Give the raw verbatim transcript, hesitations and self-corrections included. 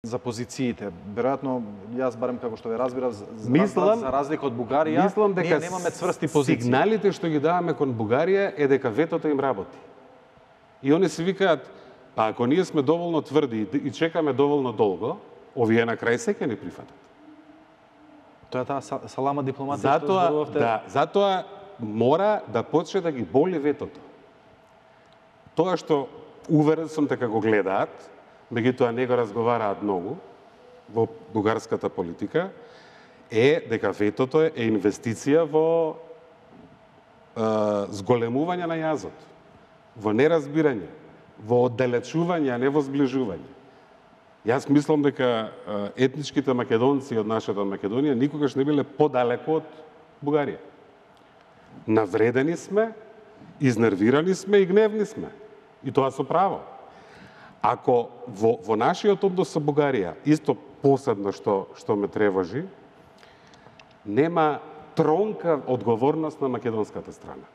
за позициите. Веројатно, јас барем како што ве разбирав, за, мислам, за разлика од Бугарија, мислам дека ние немаме цврсти позиции. Сигналите што ги даваме кон Бугарија е дека ветото им работи. И они се викаат, па ако ние сме доволно тврди и чекаме доволно долго, овие на крај се ќе ни прифатат. Тоа е таа салама дипломатија затоа, што зборувавте. Да, затоа мора да почне да ги боли ветото. Тоа што уверен сум дека го гледаат, меѓутоа не го разговараат многу во бугарската политика, е дека ветото е инвестиција во е, зголемување на јазот, во неразбирање, во оддалечување, а не во зближување. Јас мислам дека етничките македонци од нашата Македонија никогаш не биле подалеку од Бугарија. Навредени сме, изнервирани сме и гневни сме. И тоа со право. Ако во, во нашиот однос со Бугарија, исто посебно што, што ме тревожи, нема тронка одговорност на македонската страна.